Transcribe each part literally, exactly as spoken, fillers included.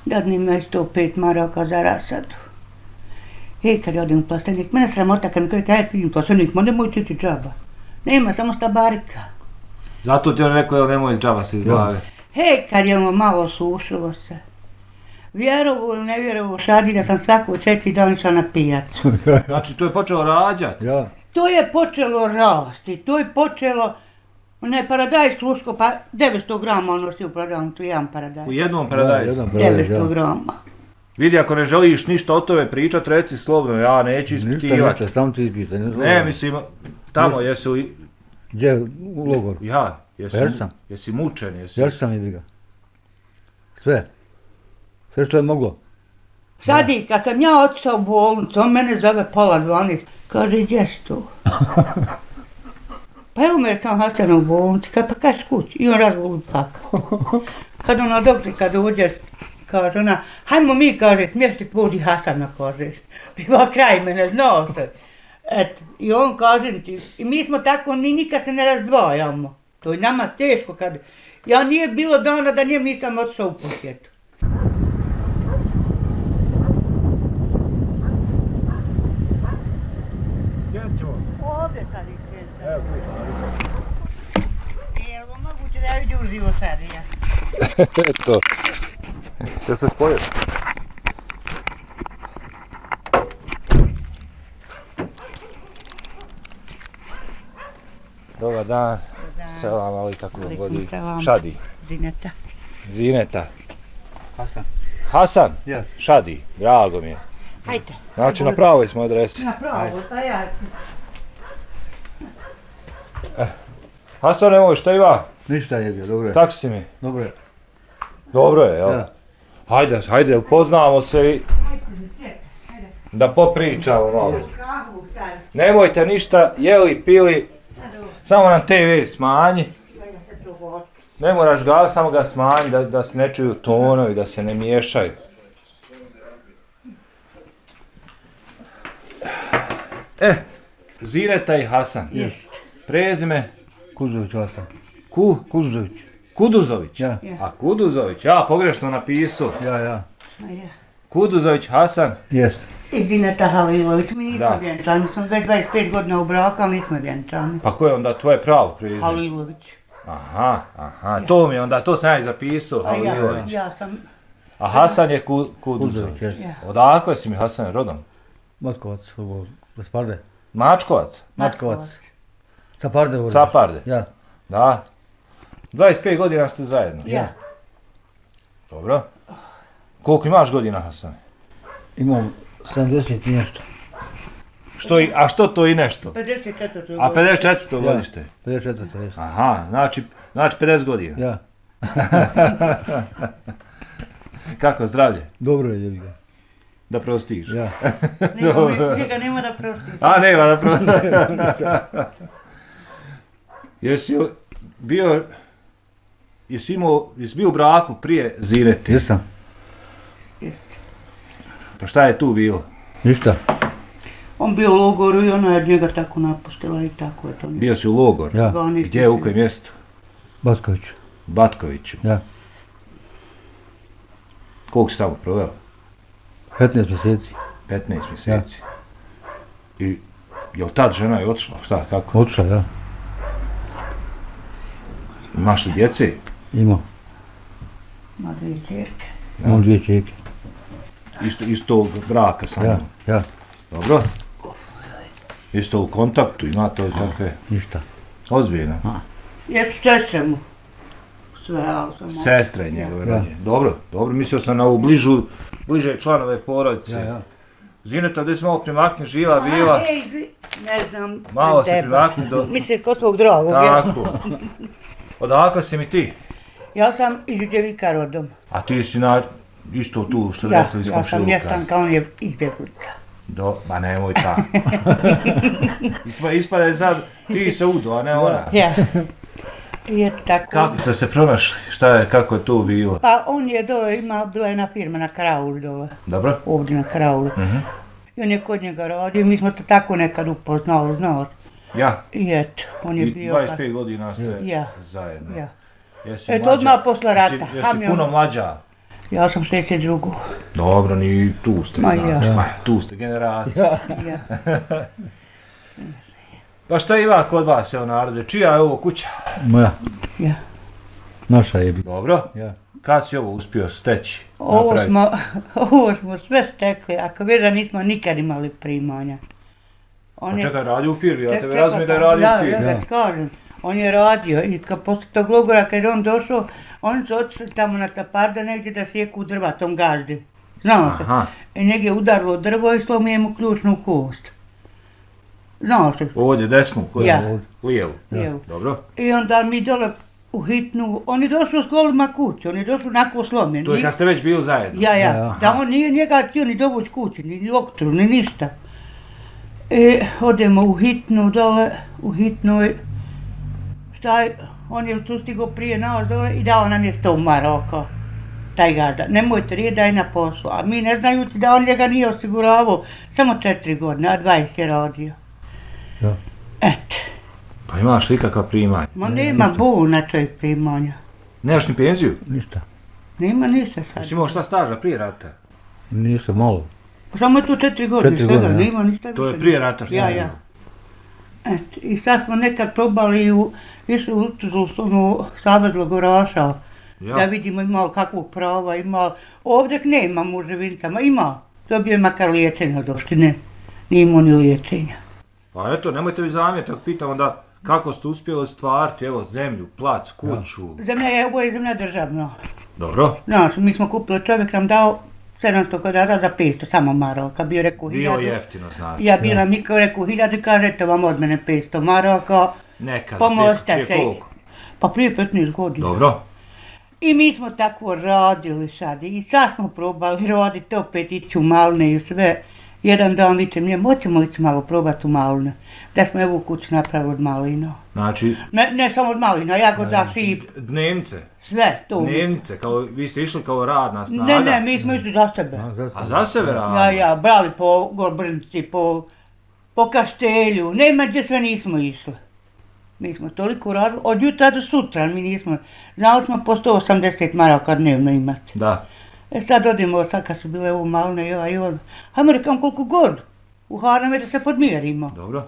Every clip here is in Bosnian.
Dadni me sto pet maraka za rasadu. I kad odim u plastenik, mene sramota kad mi kaže, kaj vidim plastenik, ma nemoj ti ti džaba. Nema, samo stabarika. Zato ti on rekao, jel nemoj džaba se izlage. Hej, kad je ono malo sušilo se. Vjerovo ili ne vjerovo, šadi da sam svako četiri dana išla na pijacu. Znači, to je počelo rađati? Ja. To je počelo rasti, to je počelo, onaj paradajz sluško, pa devetsto grama ono si u prodavnicu, jedan paradajz. U jednom paradajzu? devetsto grama. Vidi, ako ne želiš ništa o tome pričat, reci slobodno, ja neću ispitivati. Ništa, ništa, samo ti ispita. Ne, mislim, tamo jesu... Gdje, u logoru? Ja, jesi, Jesam. jesi mučen, jesi... Jesam i ga. Sve. Sve što je moglo. Sad i kad sam ja otišao u bolnicu, on mene zove pola dvanaest, kaže, gdje si tu? Pa evo me rekao Hasan u bolnici, kad pa kaži kući, i on razgovor plakao. Kad ona doktor, kad uđeš, kaže ona, hajmo mi, kaže, smješti budi Hasana, kaže, biva kraj mene, znao se. Eto, i on kaže ti, i mi smo tako, ni nikad se ne razdvajamo. To je nama teško kad, ja nije bilo dana da njem nisam otišao u posjetu. Ovdje sad izgleda. Evo, je li moguće da ja vidim uživo sad ja? Eto. Jel se spojio? Dobar dan. Selam, ali kako vam godi? Šadi. Zineta. Zineta. Hasan. Hasan? Ja. Šadi, drago mi je. Hajde. Znači, na pravoj smo adresi. Na pravo, pa ja. Hasan, nemoj, šta ima? Ništa je bio, dobro je. Tako si mi? Dobro je. Dobro je, jel? Ja. Hajde, hajde, upoznamo se i da popričamo malo. Nemojte ništa jeli, pili, samo nam te ve smanji. Ne moraš ga, samo ga smanji da, da se ne čuju tonovi, da se ne miješaju. E, Zineta i Hasan. Jest. Prezime? Kuduzović Hasan. Ku? Kuduzović. Kuduzović? Ja. A Kuduzović, ja pogrešno napisao. Ja, ja. Kuduzović Hasan. Jest. I Zineta Halilović, mi nismo Da. vjenčani, mi smo već dvadeset pet godina u braku, ali nismo vjenčani. Pa ko je onda tvoje pravo prezime? Halilović. Aha, aha, to mi je onda, to sam ja i zapisao, A ja, Halilović. ja sam, A Hasan je ku, Kuduzović. Kuduzović, jest. ja. Odakle si mi Hasan rodom? Matkovac, ovo, Gasparde. Mačkovac? Matkovac. Caparde, ovo. Caparde? Ja. Da. dvadeset pet godina ste zajedno? Ja. Dobro. Koliko imaš godina, Hasan? Imam sedamdeset i nešto. Što i, a što to i nešto? pedeset četvrto A pedeset četvrto Ja. godište? pedeset četvrto, jest. Aha, znači, znači pedeset godina. Ja. Kako zdravlje? Dobro je, jebi ga. Da prostiš? Ja. Nema, njega nema da prostiš. A nema da prostiš. Jesi bio, jesi imao, jesi bio u braku prije Zinete? Jesam. Pa šta je tu bilo? Ništa. On bio u logoru i ona je njega tako napustila i tako je to. Bio si u logor? Ja. Gdje, u kojem mjestu? Batkoviću. Batkoviću. Ja. Koliko si tamo proveo? petnaest mjeseci. petnaest mjeseci. I je li tad žena je otišla? Šta, kako? Otišla, ja. Imaš li djece? Imao. Ma dvije čerke. Imam dvije čeke. Isto, istog braka samo? Ja, ja. Dobro. Isto u kontaktu, ima to takve? Ništa. Ozbiljno. Jer sestre mu. Sve, ali sam... Sestre njegove Ja. ranije. Dobro, dobro, mislio sam na ovu bližu, bliže članove porodice. Ja, ja. Zineta, gdje si malo primakni, živa, bila? A, ej, gli- ne znam. Malo se teba. primakni do... Mislim, kod svog drugog, ja. Tako. Odakle si mi ti? Ja sam iz Đevika rodom. A ti si na... Isto tu, što Ja, rekli iz ja sam komšiluka. mještanka, on je izbjeglica. Do, ma nemoj ta. Ispa, ispada je sad, ti se udo, a ne ona. Ja. I eto tako. Kako ste se pronašli? Šta je, kako je tu bilo? Pa on je dole, ima, bila jedna firma na Kraulu dole. Dobro? Ovdje na Kraulu. Mhm. I on je kod njega radio, mi smo to tako nekad upoznali, znaš. Ja? I eto, on je I bio... dvadeset pet godina ste Ja. zajedno. Ja. Jesi Eto, mlađa? odmah posle rata. Jesi, jesi Ham je puno on- mlađa? Ja sam šezdeset drugo. Dobro, ni tu ste, Ma znači, ja. ma, tu ste generacija. Ja. Pa šta ima kod vas, evo narode, čija je ovo kuća? Moja, Ja. naša je bi. Dobro, Ja. kad si ovo uspio steći? Ovo napraviti? smo, ovo smo sve stekli, ako već da nismo nikad imali primanja. On Pa je- čekaj, radi u firmi, ja Ček- tebe čekaj, razumijem da je pa, radio da, u firmi. Da, da ti kažem, on je radio i kad posle tog logora kad je on došao, oni su otišli tamo na Taparda negdje da sjeku drva tom gazdi. Znao se. Aha, I njeg je udarilo drvo i slomio mu ključnu kost. Znao se. ovdje desnu, koju? Ja. Lijevu. Lijevu. Dobro. I onda mi dole u hitnu, on je došao s kolima kući, on je došao onako slomljen. To je Ni- kad ste već bili zajedno. Ja, ja, Ja, da on nije njega htio ni dovući kući, ni doktoru, ni ništa. E, odemo u hitnu dole, u hitnoj, šta je, on je tu stigao prije nas dole i dao nam je sto maraka, taj gazda. Nemojte rijeti da je na poslu, a mi ne znajući da on njega nije osiguravao, samo četiri godine, a dvadeset je radio. Ja. Et, Pa imaš li kakva primanja? ma nema bol na toj primanja, Nemaš ni penziju? Ništa. nema ništa sad. Jesi imao šta staža prije rata? Nisam malo. Samo je tu četiri godine, Četiri svega, godine, ja. nema ništa To je više. prije rata šta Ja, je ja. bilo? Et, i sad smo nekad probali u, išli u onu savez logoraša, Ja. da vidimo imao kakvog prava, imao, ovdje nema u Živincama, ima, dobio je makar liječenja od opštine, nije imao ni liječenja. Pa eto, nemojte vi zamjeriti, ako pitam onda kako ste uspjeli stvariti, evo, zemlju, plac, kuću. Zemlja je, ovo je zemlja državna. Dobro, Znaš, mi smo kupili, čovjek nam dao sedamsto kvadrata za petsto, samo maraka, bio rekao bio hiljadu. jeftino, znači. Ja bila mi kao rekao hiljadu, kažete vam od mene petsto maraka, Nekada, pomozite prije, se. prije koliko? Pa prije petnaest godina. Dobro. I mi smo tako radili sad i sad smo probali raditi opet ići u Malne i sve. Jedan dan vičem njemu, hoćemo ići malo probati u Malne. Da smo evo kuću napravili od malina. Znači, Ne, ne samo od malina, jagoda, šip, dnevnice, sve to. dnevnice, kao, vi ste išli kao radna snaga. Ne, ne, mi smo išli za sebe. A, za A za sebe radno? Ja, ja, brali po Gorbrnici, po, po Kaštelju, nema gdje sve nismo išli. Mi smo toliko radili, od jutra do sutra mi nismo, znali smo po sto osamdeset maraka dnevno imati. Da. E sad odemo, sad kad su bile ovo Malne, ja i on, hajmo rekam koliko god, u Harname da se podmjerimo. Dobro.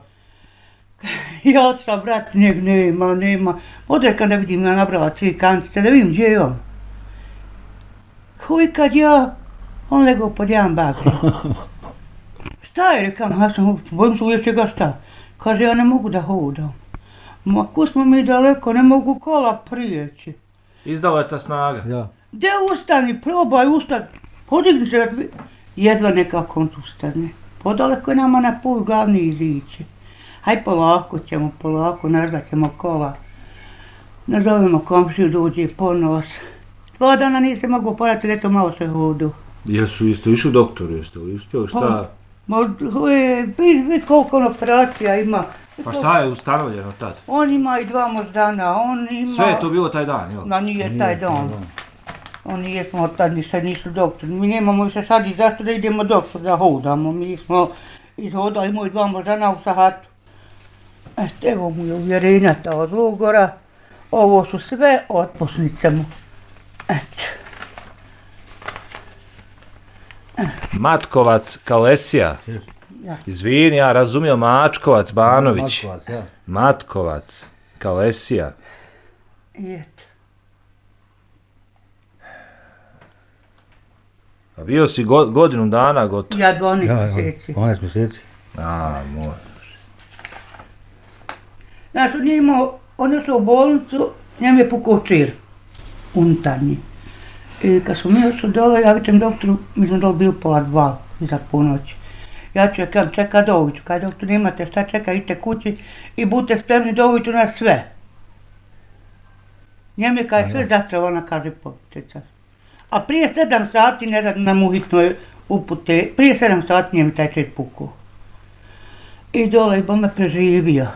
Ja otišla, brat, njeg nema, nema, odrekam da vidim, ja nabrala tri kancice, da vidim gdje je on. Koji kad ja, on legao pod jedan bakri. Šta je, rekam, ja sam, bojim se uvijek čega šta. Kaže, ja ne mogu da hodam. Ma ko smo mi daleko, ne mogu kola prijeći. Izdala je ta snaga. Ja. Gdje ustani, probaj ustani, podigni se, razbi- jedva nekako on ustane. Podaleko je nama na pol glavni izići. Haj polako ćemo, polako, nazvat ćemo kola. Nazovemo komšiju, dođe po nos. Dva dana nije se moglo porati, eto malo se hodu. Jesu, jeste išli doktoru, jeste li uspjeli, šta? Ma, je, vidi, vidi koliko on operacija ima. Pa šta je ustanovljeno tad? On ima i dva moždana, on ima... Sve je to bilo taj dan, jel? Ma nije taj dan. Oni jesmo od tad ništa nisu doktori. Mi nemamo više sad i zašto da idemo doktor da hodamo. Mi smo izhodali moj dva moždana u Sahatu. Eto, evo mu je uvjerenja ta od logora. Ovo su sve otpusnice mu. Eto. Matkovac, Kalesija. Ja. Izvini, ja razumio Mačkovac, Banović. Matkovac, ja. Matkovac, Kalesija. I eto. A bio si go, godinu dana gotovo. Ja dvanaest Ja, ja, mjeseci. dvanaest mjeseci. A, moj. Znaš, on je imao, on je šao u bolnicu, njem je pukao čir, unutarnji. I kad smo mi ošli dole, ja vidim doktoru, mi smo dole bili pola dva, iza ponoći. Ja ću je kam čeka do ujutru, kaj doktor nemate šta čeka, idite kući i budite spremni do ujutru na sve. Njem je kaj sve zatravo, ona kaže popitica. A prije sedam sati ne radi nam uhitnoj upute, prije sedam sati njem je taj čir pukao. I dole i bome preživio.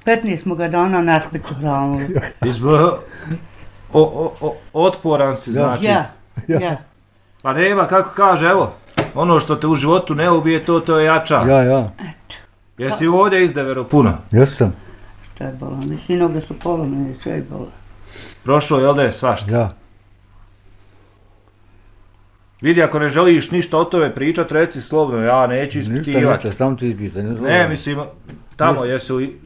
petnaest smo ga dana na smrću hranili. Izbro... O, o, o, otporan si, znači. Ja, ja. Pa nema, kako kaže, evo, ono što te u životu ne ubije, to te ojača. Ja, ja. Jesi ovdje izdevero puno? Jesam. Šta je bolan? Svi noge su polomene, sve je bolan. Prošlo, jel da je svašta? Ja. Vidi, ako ne želiš ništa o tome pričat, reci slobodno, ja neću ispitivati. Ništa, ništa, samo ti ispita. Ne, mislim, tamo jesi li...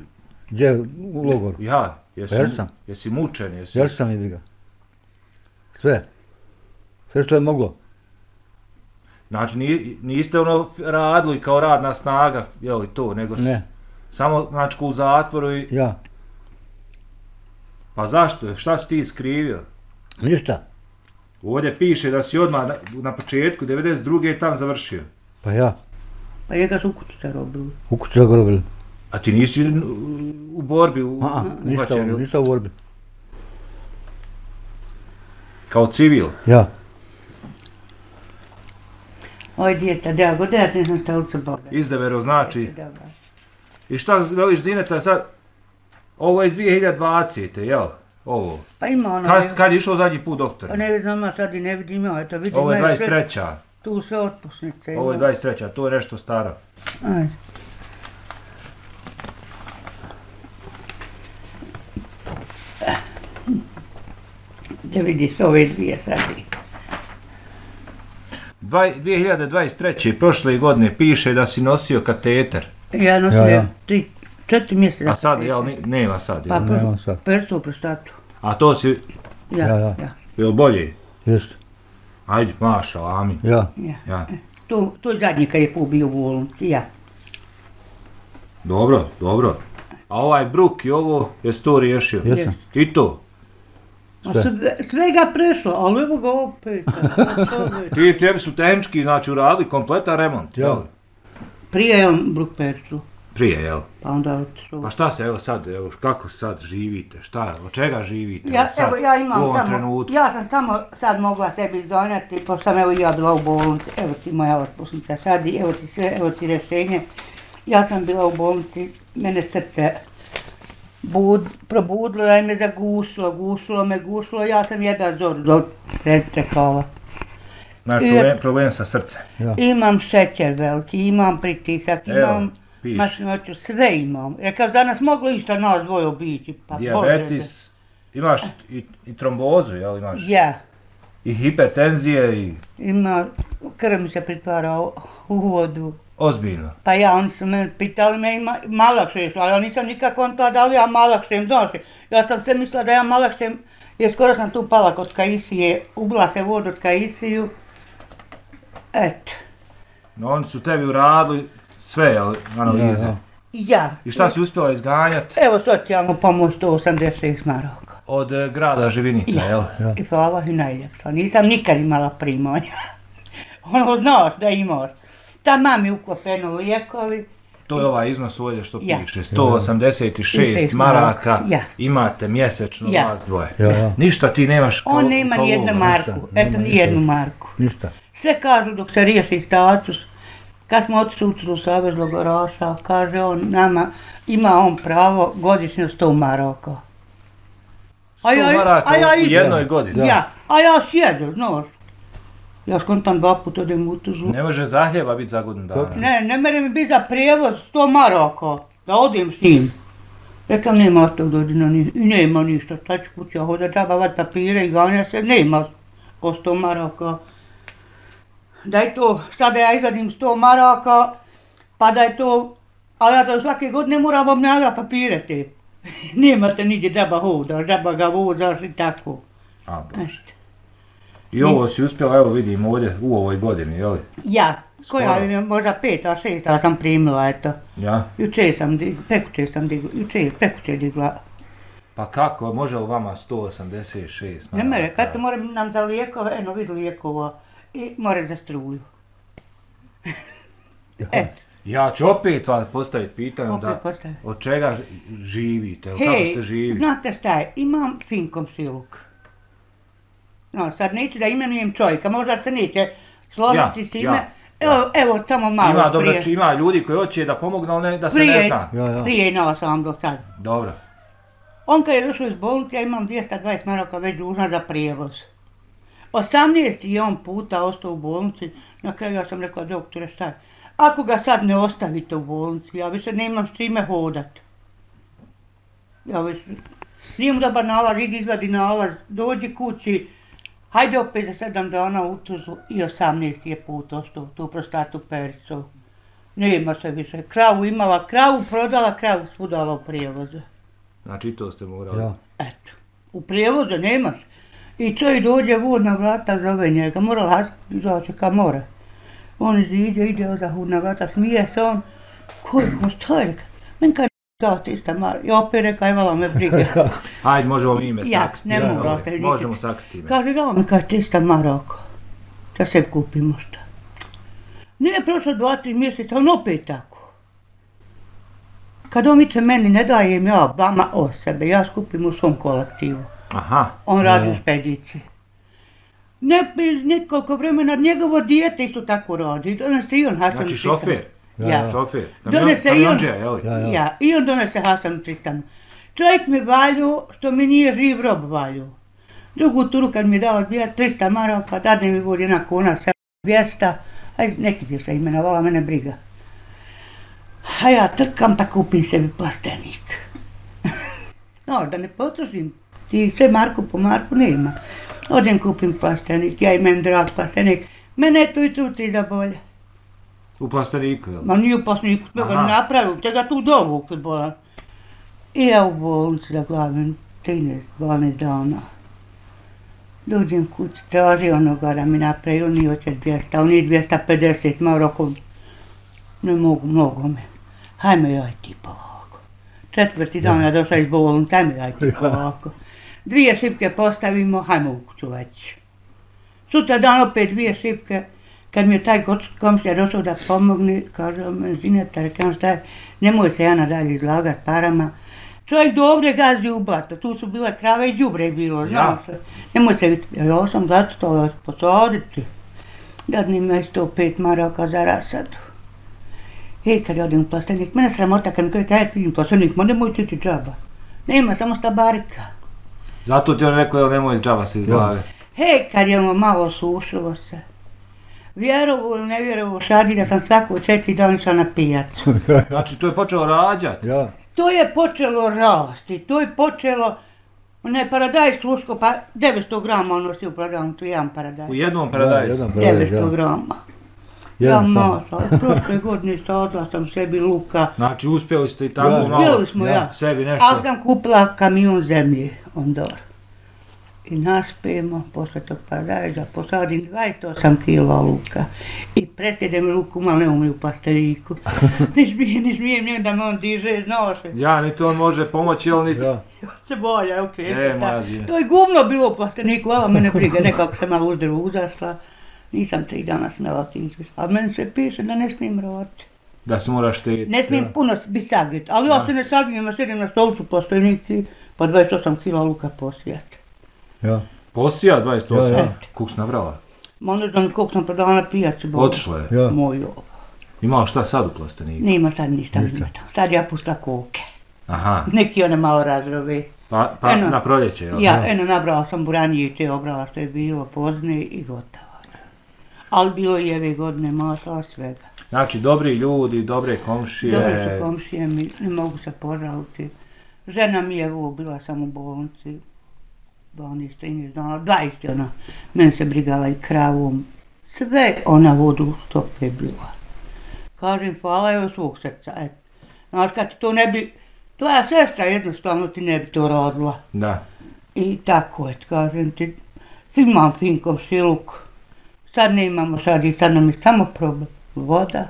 Gdje, u logoru? Ja, jesi, Jer sam. jesi mučen, jesi... Jer sam i ga. Sve. Sve što je moglo. Znači, ni, niste ono radili kao radna snaga, je li to, nego... Ne. Samo, znači, u zatvoru i... Ja. Pa zašto? Šta si ti skrivio? Ništa. Ovdje piše da si odmah na, na početku devedeset druge tam završio. Pa ja. Pa njega su u kući se robili. U kući ga robili. A ti nisi u borbi u, A, ništa, ubačen, ništa u borbi. kao civil? Ja. Oj djeta, da god ja ne znam šta li se boga. Izdevero znači. I šta veliš Zineta sad? Ovo je iz dvije hiljade dvacete, jel? Ovo. Pa ima ono... Kad, kad je išao zadnji put doktor? Pa ne znam, ja sad i ne vidim, ja eto vidim... Ovo je dvadeset treća. Tu sve otpusnice. Ovo je dvadeset treća, to je nešto staro. Ajde. Da vidiš ove dvije sad. dvije hiljade dvadeset treće prošle godine piše da si nosio kateter. Ja nosim Ja, ja. tri, četiri mjeseca. A sad, jel, ne- nema sad, Pa jel? Nema sad. persu u prostatu. A to si, Ja, Ja, ja, ja. ja. jel bolje? Jest. Ajde, maša, amin. Ja. ja. Ja. To, to je zadnji kad je pobio u bolnici, ja. Dobro, dobro. A ovaj bruk i ovo, jesi to riješio? Jesam. I to? A Sve. sve, svega prešlo, ali evo ga opet. a to već. Ti, tebi su tehnički, znači, uradili kompletan remont, Ja. jel? Prije je on bruk persu, Prije, jel? pa onda otišao. Pa šta se, evo sad, evo, kako sad živite, šta, od čega živite? Ja, sad, evo, ja u imam ovom samo, trenutku? ja sam samo sad mogla sebi izgonjati, pošto sam evo i ja bila u bolnici, evo ti moja otpusnica sad i evo ti sve, evo ti rješenje. Ja sam bila u bolnici, mene srce bud, probudilo, da je me zagusilo, gusilo me, gusilo, ja sam jedan zor do čekala. Znaš, I- problem, problem sa srcem. Ja. Imam šećer veliki, imam pritisak, Evo, imam piše. masnoću, sve imam. Rekao, za nas moglo išta nas dvoje obići, pa Bože. Dijabetis, imaš i, i trombozu, jel imaš? Ja. I hipertenzije i Ima, krv mi se pritvara u u vodu. ozbiljno. Pa ja, oni su me pitali me ima malakše išla, ja nisam nikako on to da li ja malakšem, znaš, ja sam sve mislila da ja malakšem, jer skoro sam tu pala kod Kaisije, ubila se vodu od Kaisiju. Eto, No, oni su tebi uradili sve, jel, analize. Ja, ja. ja. I šta si uspjela izganjati Evo socijalnu pomoć sto osamdeset šest maraka. od eh, grada Živinica, Ja. jel? Ja. I hvala i najljepša, nisam nikad imala primanja. Ono, znaš da imaš. Ta mami uklopeno lijekovi. To je ovaj iznos ovdje što Ja. piše, sto osamdeset šest šest maraka, maraka, ja. imate mjesečno Ja. vas dvoje. Ja, ja. Ništa ti nemaš kao... On nema kao ni jednu ovo, marku, ništa, eto nema ni ništa. jednu marku. Ništa. Sve kažu dok se riješi status, kad smo otišli u Crnu savez logoraša, kaže on nama, ima on pravo godišnje sto maraka. sto maraka u idem. jednoj godini. Ja. Ja, a ja sjedem, znaš. Ja skontam dva puta odem u tužu. Ne može zahljeba biti za godinu dana. Ne, ne mere mi biti za prijevoz sto maraka, da odem s njim. Rekam, nema tog godina, ni, i nema ništa, sad ću kuća hoda džaba vat papire i ganja se, nema ko sto maraka. Daj to, sada ja izvadim sto maraka, pa da je to, ali ja to svake godine moram obnavljati papire te. Nemate nigdje džaba hoda, džaba ga vozaš i tako. A, Bože. Eto. I ovo si uspjela, evo vidim ovdje, u ovoj godini, jel? Ja, koja Skoro. je možda peta, šesta sam primila, eto. Ja? Juče sam digla, prekuče sam digla, juče, prekuče digla. Pa kako, može li vama sto osamdeset šest Ne mere, kad to moram nam za lijekove, eno vidi lijekova i more za struju. Eto, Ja ću opet vam postaviti pitanje Opet da postavi. od čega živite, jel, kako hej, ste živi? znate šta je, imam finkom siluk. No, sad neću da imenujem čovjeka, možda se neće složiti Ja, s time. ja, Evo, evo, samo malo Ima, dobro, prije. ima ljudi koji hoće da pomognu, ali ne, da se ne Prije, zna. Ja, ja. prije imala sam vam do sad. Dobro. On kad je došao iz bolnice, ja imam dvjesto dvadeset maraka već dužna za prijevoz. osamnaest je on puta ostao u bolnici, na kraju ja sam rekla, doktore, šta je? Ako ga sad ne ostavite u bolnici, ja više nemam s čime hodat. Ja više, nije mu dobar nalaz, idi izvadi nalaz, dođi kući, Hajde opet za sedam dana u Tuzlu i osamnaesti je put ostao, tu prostatu Pericu. Nema se više. Kravu imala, kravu prodala, kravu svudala u prijevoze. Znači i to ste morali? Ja. Eto, u prijevoze nemaš. I čovjek dođe vod na vrata, zove njega, mora lasiti, izaći ka more. On iziđe, ide odahud na vrata, smije se on. Koji, mo što je reka? Men kad dao ti ista Mara, i opet reka, ivala me brige. Ajde, možemo ime sakriti. Ja, ne Ja, morate. Dobro, možemo sakriti ime. Kaže, dao me kad ti ista Maroko, da se kupimo šta. Nije prošlo dva, tri mjeseca, on opet tako. Kad on viče meni, ne dajem ja vama o sebe, ja skupim u svom kolektivu. Aha. On radi Ja. u špediciji. Ne, nekoliko vremena njegovo dijete isto tako radi. Donese i on Hasanu Znači Tristanu. šofer? Ja. Šofer? Donese i on. Kamionđija, jel? Ja, ja. Ja. I on donese Hasanu Tristanu. Čovjek mi valju, što mi nije živ rob valju. Drugu turu kad mi je dao trista maraka, dadne mi vodi jedna kuna, dvjesto, aj neki bi se imenovala, mene briga. A ja trkam pa kupim sebi plastenik. No, da ne potrošim, ti sve marku po marku nema. Odem kupim plastenik, ja i meni drag plastenik. Mene to i truti da bolje. U plasteniku, jel? Ma nije u plasteniku, smo ga Aha. napravili, te ga tu dovukli bolan. I ja u bolnici da glavim trinaest dvanaest dana. Dođem kući, traži onoga da mi napravi, on nije hoće dvjesto, on nije dvjesto pedeset, ma roko, ne mogu, mnogo me. Hajme joj ti polako. Četvrti dan ja došla iz bolnice, hajme joj ti polako. Dvije šipke postavimo, hajmo u kuću leći. Sutra dan opet dvije šipke, kad mi je taj komšija došao da pomogne, kaže me, Zineta, rekam šta je, nemoj se ja nadalje izlagat parama. Čovjek dobre gazi u blato, tu su bile krave i đubre je bilo, znaš. Ja. Nemoj se vidjeti, ja sam zacitala posaditi. Dadni me sto pet maraka za rasadu. I kad odem u plastenik, mene sramota kad mi kaže, kaj vidim plastenik, ma nemoj ti ti džaba. Nema, samo stabarika. Zato ti on rekao, jel nemoj džaba se izlagati. Hej, kad je ono malo sušilo se. Vjerovo ili ne vjerovo šadi da sam svako četiri dana išla na pijacu. Znači to je počelo rađati. Ja. To je počelo rasti, to je počelo, onaj paradajz sluško, pa devetsto grama on nosi u prodavnicu, jedan paradajz. U jednom Ja, paradajzu. jedan paradajz, devetsto ja. grama. Ja Jedan samo. maša, prošle godine sadla sam sebi luka. Znači uspjeli ste i tako Ja. malo Uspjeli smo ja. sebi nešto. Ali sam kupila kamion zemlje ondor. I naspijemo, posle tog paradajza, posadim dvadeset osam kila luka. I presjedem luku, malo ne umri u pasteriku. Ne smijem, ne smijem njeg da me on diže, znao se. Ja, niti on može pomoći, jel niti... Ja. Se bolje, ok. E, moja Zina. To je guvno bilo u plasteniku, vala mene briga, nekako sam malo uzdrvo uzašla. Nisam tri dana smjela otići, a meni se piše da ne smijem roditi. Da se moraš štiti. Ne smijem Ja. puno biti sagit, ali ja Da. se ne sagijem, ja sjedim na stolcu plasteniki, pa dvadeset osam kila luka posijati. Ja. Posija dvadeset osam. Ja, ja. Kuk si nabrala? Ma ne znam koliko sam prodala na pijaci. Boga. Otišla je. Ja. Moj ovo. Imao šta sad u plasteniku? Nima sad ništa, Ništa. ništa. Sad ja pustila koke. Aha. Neki one malo razrove. Pa, pa Eno. na proljeće, jel? Ja, eno, nabrala sam buranije i te obrala što je bilo pozne i gotovo. Ali bilo je ove godine masla svega. Znači, dobri ljudi, dobre komšije. Dobre su komšije mi, ne mogu se požaliti. Žena mi je ovo, bila sam u bolnici. dvanaest trinaest dana, dvadeset ona. Mene se brigala i kravom. Sve ona vodu u stope bila. Kažem, hvala joj svog srca, eto. Znaš, kad ti to ne bi, tvoja sestra jednostavno ti ne bi to rodila. Da. I tako je, kažem ti, imam fin komšiluk. Sad ne imamo sad i sad nam je samo problem. Voda.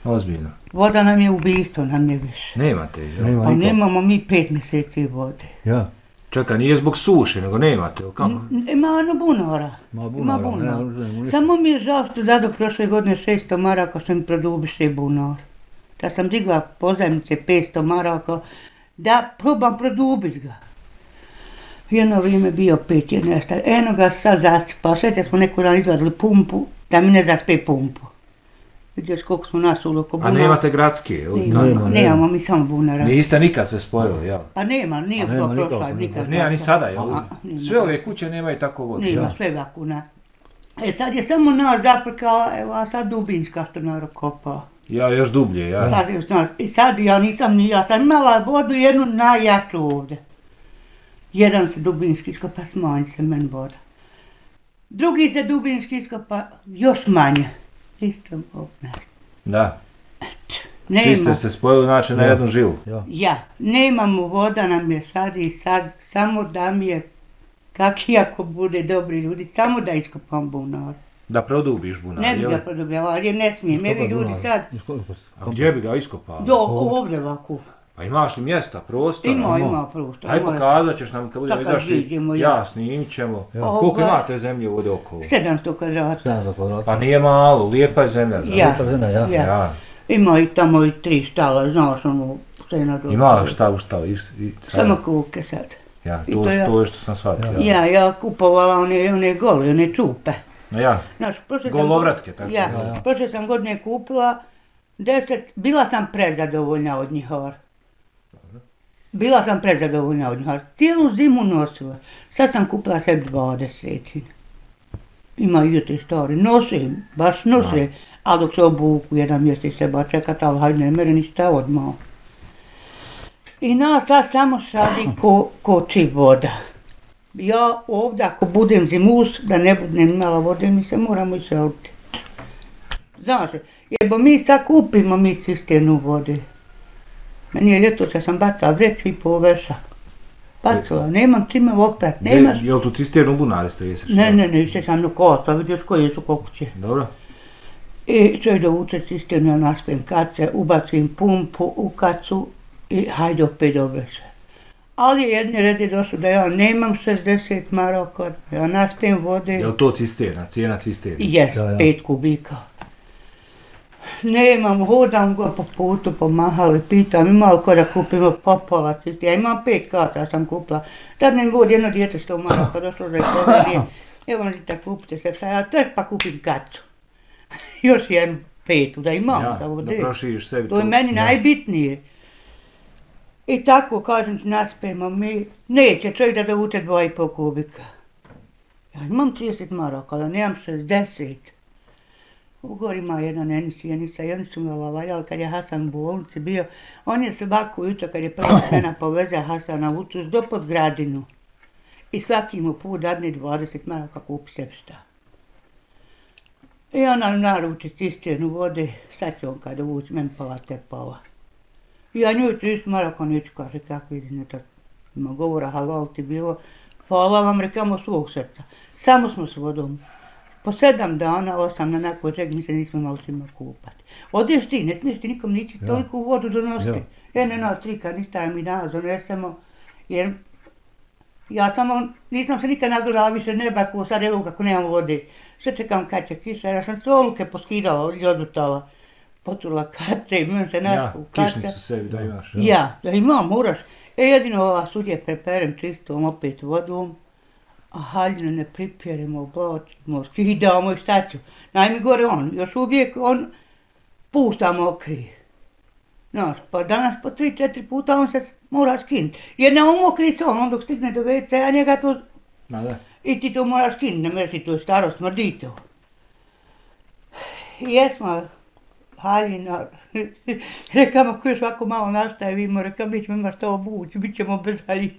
Ozbiljno. Voda nam je ubijstvo, nam je više. Nemate, jel? Nema Pa niko. nemamo mi pet mjeseci vode. Ja. Čekaj, nije zbog suše, nego nemate, jel kako? N- Ima ono bunara. Ma Ima bunara, bunar. ne, ne, ništa. Samo mi je žao što dado prošle godine šesto maraka što mi produbiše bunar. Da sam digla pozajmice petsto maraka da probam produbit ga. Jedno vrijeme bio pet, jedno je šta, eno ga sad zasipao, sve smo neku dan izvadili pumpu, da mi ne zaspe pumpu. Vidiš koliko smo nas ulu oko A bunara. nemate gradske, jel? Nema, Nema, nemamo nema. mi samo bunara. Niste nikad se spojili, jel? Pa nema, nije A nema to nikako, prošla nema. nikad. Nema ni sada, jel? A, nema. Sve ove kuće nemaju tako vodu. Nema, Ja. sve vakuna. E sad je samo nas zaprkala, evo, a sad Dubinska što narod kopa. Ja, još dublje, ja. Sad je, znaš, i sad ja nisam ni, ja sam imala vodu jednu najjaču ovdje. Jedan se Dubinski iskopa, smanji se meni voda. Drugi se dubinski iskopa još manje. Isto opet. Da. Nema. Svi ste se spojili znači na Ja. jednu žilu. Ja. Ja, nemamo voda nam je sad i sad, samo da mi je, kak i ako bude dobri ljudi, samo da iskopam bunar. Da produbiš bunar, Ne bi jel? ga produbljavao, jer ne smijem, evi ljudi sad, A gdje bi ga iskopao? do ovdje ovako. Pa imaš li mjesta, prostora? Ima, ima prostor. Aj ima. pokazat ćeš nam kad budemo Sad kad izašli, vidimo, ja. ja snimit ćemo. Ja. Koliko Ovaj- imate zemlje ovdje okolo? sedamsto kvadrata. sedamsto kvadrata. Pa nije malo, lijepa je zemlja. da. Ja. Lijepa zemlja, ja. Ja. Ja. Ima i tamo i tri štala, znao sam u scena do... Ima šta u šta? I, i, Samo kuke sad. Ja, i to, to ja. to je što sam shvatio. Ja. Ja, ja kupovala one, one gole, one čupe. Ja. Znaš, prošle sam Golovratke, god- tako Ja, se zove. prošle sam godine kupila deset, bila sam prezadovoljna od njih. or. Bila sam prezadovoljna od njih. or. Cijelu zimu nosila. Sad sam kupila sebi dvadeset. Ima i te stvari. Nose, baš nose. A dok se obuku, jedan mjesec se ba čekat, ali hajde ne mere ništa odmah. I nas sad samo šadi ko, koči voda. Ja ovdje ako budem zimus, da ne budem imala vode, mi se moramo iseliti. Znaš, jebo mi sad kupimo mi cisternu vode. Meni je ljeto kad sam bacala vreću i poveša. Bacila, nemam čime oprat, nemaš. Jel tu cisternu bunari ste jesiš? Ne, ne, ne, išće sam na kosa, vidiš koje su kokuće. Dobro. I čovjek da uče cisternu, ja naspijem kace, ubacim pumpu u kacu i hajde opet obreše. Ali jedni redi došli da ja nemam šezdeset maraka, ja naspijem vode. Jel to cisterna, cijena cisterna? Jes, Ja, ja. pet kubika. Nemam, hodam go po putu, pomahali, pitam, ima li ko da kupimo popola cisterna. Ja imam pet kata, sam kupila. Tad ne vodi jedno dijete sto maraka, došlo da je povedije. Evo mi da kupite se, sad ja trk pa kupim kacu. Još jednu petu, da imam Ja, za da vode. proširiš sebi To je meni najbitnije. I tako, kažem ti, naspijemo mi, neće čovjek da dovuče dva i pol kubika. Ja imam trideset maraka, ali nemam šezdeset. U gori ima jedna nenisijenica i oni su me valjali kad je Hasan u bolnici bio. On je svaku jutro kad je prva žena poveze Hasana u Utus do Podgradinu. I svaki mu put dadne dvadeset maraka kupi sebi šta. I ona naruči cisternu vode, sad će on kada uvući, meni pala te pala. Ja nju trideset maraka neću, kaže, kako idine to ima govora, halal ti bilo. Hvala vam, rekamo svog srca. Samo smo s vodom. Po sedam dana, osam na nakon čega mi se nismo imali svima kupati. Odeš ti, ne smiješ ti nikom nići Ja. toliko vodu donositi. Ja. Ja ne nas tri kad ništa mi danas donesemo, jer ja samo nisam se nikad nadurala više neba ko sad evo kako nemam vode. Sve čekam kad će kiša, ja sam sve oluke poskidala i odutala. Poturila kace i meni se Ja, naspu kace. kišnicu sebi da imaš. Ja, da imam, moraš. E jedino ova sudje preperem čistom opet vodom, a haljinu ne pripjeremo, oblačimo, skidamo i šta ću. Najmi gore on, još uvijek on pušta mokri. Znaš, pa danas po tri, četiri puta on se mora skinuti. Jer ne umokri se on, on dok stigne do ve ce, a njega to... Ma da. I ti to moraš skinuti, ne mreš ti to je staro, smrdi to. I jesmo, haljina, rekam ako još ovako malo nastavimo, rekam mi ćemo ima što obući, bit ćemo bez haljina.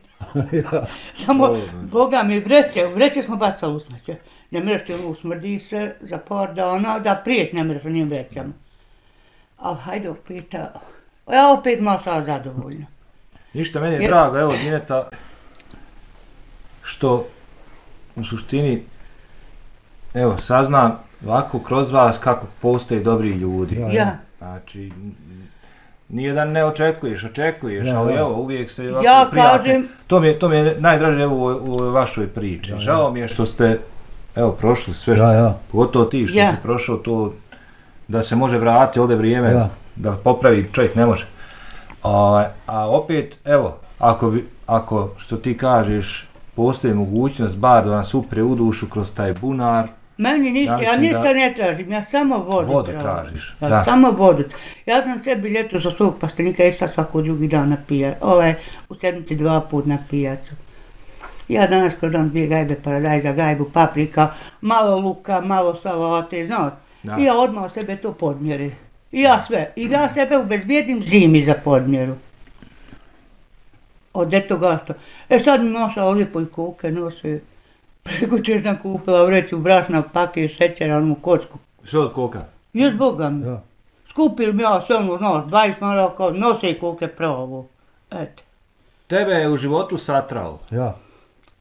Ja. Samo, Dobro. Boga mi, vreće, vreće smo bacali u smeće. Ne mreš ti ono smrdi se za par dana, da prijeć ne mreš onim vrećama. Ali hajde opet, a- ja opet malo sad zadovoljna. Ništa, meni je Jer- drago, evo Dineta, što u suštini, evo, saznam ovako kroz vas kako postoje dobri ljudi. Ja, Ja, Znači, n- nije da ne očekuješ, očekuješ, Ja, ali ja. evo, uvijek se ovako Ja prijatno. kažem- To mi je, to mi je najdraže evo u, ovoj- u vašoj priči. Ja, ja. Žao mi je što ste, evo, prošli sve, što, Ja, ja. pogotovo ti što Ja. si prošao to, da se može vratiti ovdje vrijeme, Ja. da popravi čovjek ne može. A, a opet, evo, ako, bi, ako što ti kažeš, postoji mogućnost bar da nas upre u dušu kroz taj bunar, meni ništa, Ja ja, mislim ništa da- ne tražim, ja samo vodu, Vodu tražim. tražiš, Ja, da. samo vodu. Ja sam sebi ljeto za svog pastenika išla svako drugi dan na pijac, ovaj, u sedmici dva put na pijacu. Ja danas prodam dvije gajbe paradajza, gajbu paprika, malo luka, malo salate, znaš. Da. I ja odmah sebe to podmjeri. I ja sve. I ja sebe ubezbijedim zimi za podmjeru. Od eto gasto. E sad mi maša lijepo i kuke nose. Prekuće sam kupila vreću brašna, paket šećera, onu kocku. Sve od koka? Jes Boga mi. Ja. Skupili mi ja sve ono, znaš, dvadeset maraka, nose i koke pravo. Eto. Tebe je u životu satrao. Ja.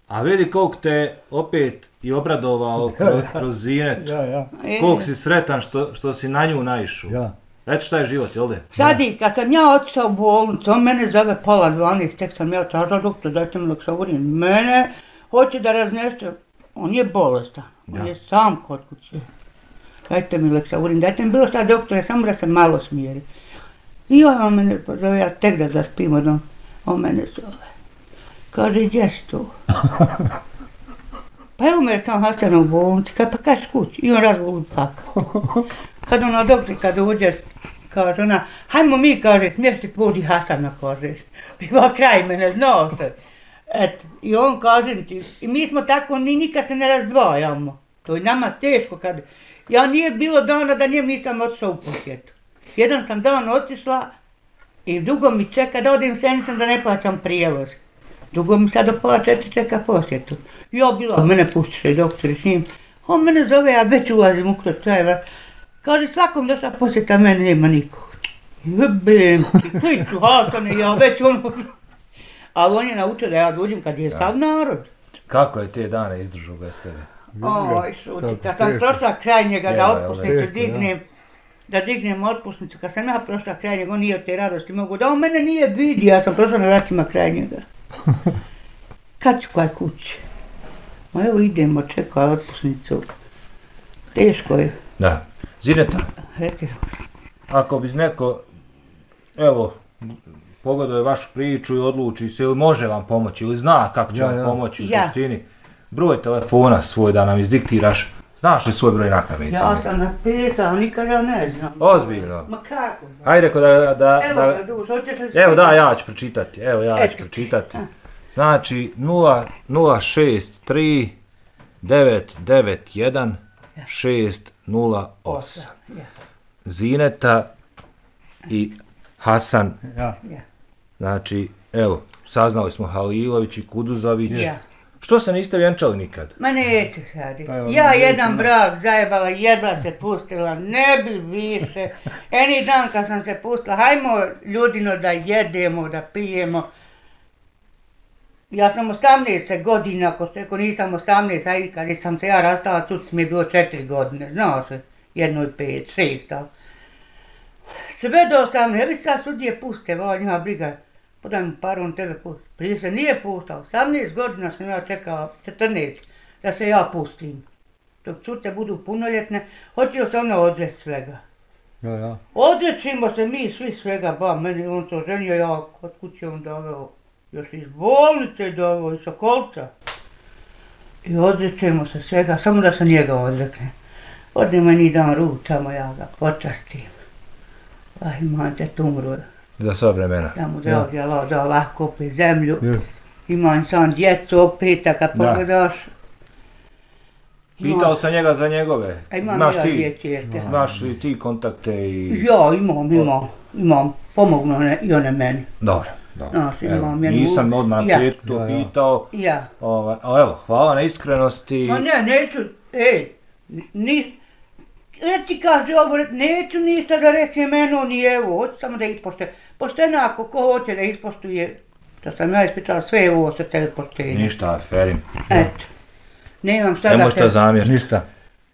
A vidi koliko te opet i obradovao kroz, kroz Zinet. Ja, ja. E, Koliko si sretan što, što si na nju naišao. Ja. Eto šta je život, jel de? Sad i kad sam ja otišao u bolnicu, on mene zove pola dvanaest, tek sam ja tražila doktor, dajte mi Leksaurin. Mene hoće da raznese, on je bolestan, on Ja. je sam kod kuće. Dajte mi Leksaurin, dajte mi bilo šta doktore, samo da se malo smijeri. I on mene pozove, ja tek da zaspim odom, on mene zove. Kaže, gdje si tu? Pa evo me kao Hasana u bolnici, kad pa kaži kući, i on razgovor plakao. Kad ona doktor, kad uđe, kaže ona, hajmo mi, kaže, smješti podi Hasana, kaže, biva kraj mene, znao se. Eto, i on kaže ti, i mi smo tako, ni nikad se ne razdvajamo. To je nama teško kad, ja nije bilo dana da njem nisam otišao u posjetu. Jedan sam dan otišla i dugo mi čeka da odim senicom da ne plaćam prijevoz. Dugo mi sad do pola četiri čeka posjetu. Ja bila, mene pustiše doktori s njim. On mene zove, ja već ulazim u kroz čajeva. Kaže, svakom došla posjeta, mene nema nikog. Jebem ti, koji ću Hasane, ja već ono... Ali on je naučio da ja dođem kad je sav narod. Kako je te dane izdržao bez tebe? Oj, šuti, kad sam prošla kraj njega da Jeba, jel, otpusnicu teško, dignem, da dignem otpusnicu, kad sam ja prošla kraj njega, on nije od te radosti mogu, da on mene nije vidi, ja sam prošla na vratima kraj njega. Kad ću kaj kući? Ma evo idemo, čekaj otpusnicu. Teško je, Da. Zineta, reki. ako bi neko, evo, pogledao je vašu priču i odluči se ili može vam pomoći ili zna kako će Ja, vam ja. pomoći u Ja. suštini, broj telefona svoj da nam izdiktiraš. Znaš li svoj broj na pamet? Ja sam napisao, nikada ne znam. Ozbiljno. Ma kako? Hajde reko da, da, Evo da, ga duš, hoćeš li... evo da, ja ću pročitati, evo ja ću Eto. pročitati. Znači nula šest tri devet devet jedan šest nula osam. Ja, Zineta i Hasan, Ja. ja, znači evo, saznali smo Halilović i Kuduzović. ja. Što se niste vjenčali nikad? Ma neću sad. Pa evo, Ja neću, jedan ne. brak zajebala, jedva se pustila, ne bi više. Eni dan kad sam se pustila, hajmo ljudino da jedemo, da pijemo. Ja sam osamnaest godina, ako se ako nisam osamnaest, a i kad sam se ja rastala, tu mi je bilo četiri godine, znao se, jedno i pet, šest, ali. Sve do osamnaest, evi sad sudije puste, ova njima briga, podaj mu paru, on tebe pusti. Prije se nije pustao, osamnaest godina sam ja čekala, četrnaest, da se ja pustim. Dok cute budu punoljetne, hoćeo se ona odreći svega. Ja, ja. Odrećimo se mi svi svega, ba, meni on to ženio, ja kod kuće on doveo, još iz bolnice doveo, iz Sokolca. I odrećemo se svega, samo da se njega odrekne. Odnemo ni dan ručamo, ja ga počastim. Ah, imam te tumru, Za sva vremena. da mu dragi Allah da lahko opet zemlju. Yes. Imam sam djecu opet, a kad Da. pogledaš... Pitao sam njega za njegove. A imam Imaš ja ti, dvije čerke. imaš li ti kontakte i... Ja imam, imam, imam, pomognu one, i one meni. Dobro, dobro. Znaš, Evo, imam jednu- nisam odmah na Ja. početku to Ja, ja. pitao. Ja. Ovaj, ali evo, hvala na iskrenosti. Ma ne, neću, ej, ni, ja ti kaže ovo, neću ništa da rekne meno ni evo, hoću samo da ispoštuje. Pošteno ako ko hoće da ispoštuje, da sam ja ispričala sve ovo sa tebe poštenje. Ništa, Atferim. Eto, nemam šta Ne da možete te, zamjeriti. Ništa.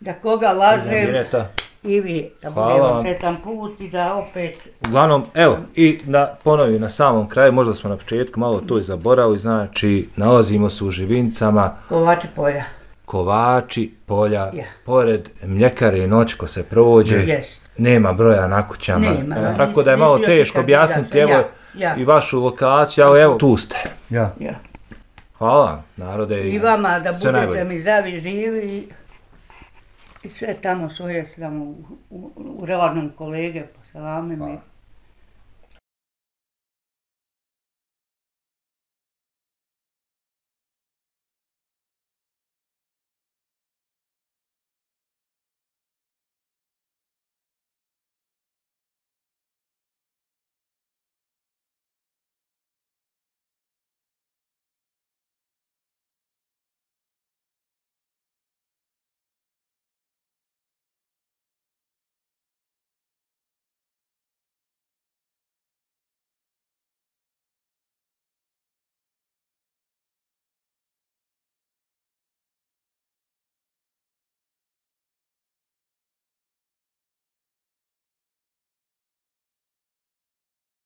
da koga lažem Zineta. i vi, da Hvala budemo vam. sretan put i da opet, Uglavnom, evo, i da ponovim na samom kraju, možda smo na početku malo to i zaboravili, znači, nalazimo se u Živincama, kovači polja. Kovači, polja, Ja. pored mljekare i noćko se prođe, Jest. nema broja na kućama, Nema, e, da. tako da je malo Niti teško osjećam objasniti, da, evo, ja, ja. i vašu lokaciju, ali evo, tu ste. Ja. Ja. Hvala vam, narode, I vama da sve budete najbolje. mi zdravi, živi i, i sve tamo svoje tamo u, u, u radnom kolege, poselamim i